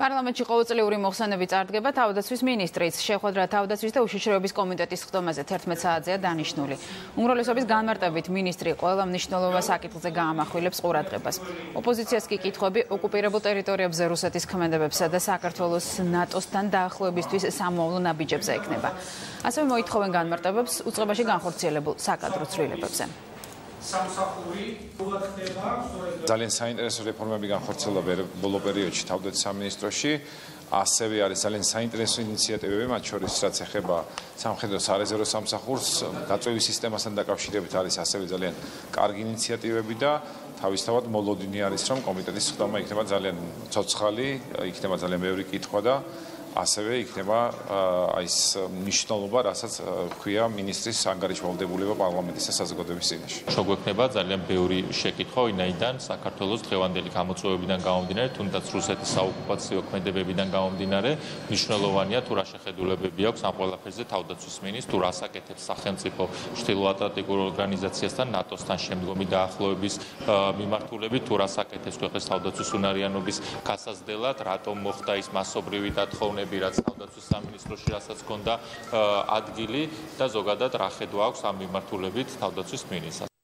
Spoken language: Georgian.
პარლამენტში ყოველწლიური მოხსენები წარდგება თავდაცვის მინისტრიც. შეხვედრა თავდაცვის და უშიშროების კომიტეტის ხდომაზე 11 საათზეა დანიშნული. უმრავლესობის განმარტებით მინისტრი ყველა მნიშვნელოვან საკითხზე გაამახვილებს ყურადღებას. ოპოზიციას კი კითხვები ოკუპირებულ ტერიტორიებზე რუსეთის ქმედებებსა და საქართველოს ნატოსთან დაახლოებისთვის სამოვლო ნაბიჯებზე ექნება. ასევე მოითხოვენ განმარტებებს უწყებაში განხორციელებულ საკადრო ცვლილებებზე. ძალიან საინტერესო რეფორმები განხორციელდა ბოლო პერიოდში თავდაცვის სამინისტროში. ასევე არის ძალიან საინტერესო ინიციატივები, მათ შორის რაც ეხება სამხედრო სარეზერვო სამსახურს, გაწვევის სისტემასთან დაკავშირებით არის ასევე ძალიან კარგი ინიციატივები და თავისთავად მოლოდინი არის, რომ კომიტეტის ხდომა იქნება ძალიან ცოცხალი, იქნება ძალიან ბევრი კითხვა და ასევე იქნება ის მნიშვნელობა, რასაც ჰქვია მინისტრის ანგარიშვალდებულება პარლამენტის და საზოგადოების წინაშე. შეგვექნება ძალიან ბევრი შეკითხვა, ვინაიდან საქართველოს დღევანდელი გამოწვევებიდან გამომდინარე, თუნდაც რუსეთის საოკუპაციო ქმედებებიდან გამომდინარე, მნიშვნელოვანია თუ რა შეხედულებები აქვს ამ ყველაფერზე თავდაცვის მინისტრს, თუ რას აკეთებს სახელმწიფო ჩრდილოატლანტიკურ ორგანიზაციასთან, ნატოსთან შემდგომი დაახლოების მიმართულებით, თუ რას აკეთებს ქვეყნის თავდაცვის უნარიანობის გასაზრდელად, რატომ მოხდა ის მასობრივი დათხოვნები, რაც თავდაცვის სამინისტროში რასაც ჰქონდა ადგილი და ზოგადად რა ხედვა აქვს ამ მიმართულებით თავდაცვის მინისტრს.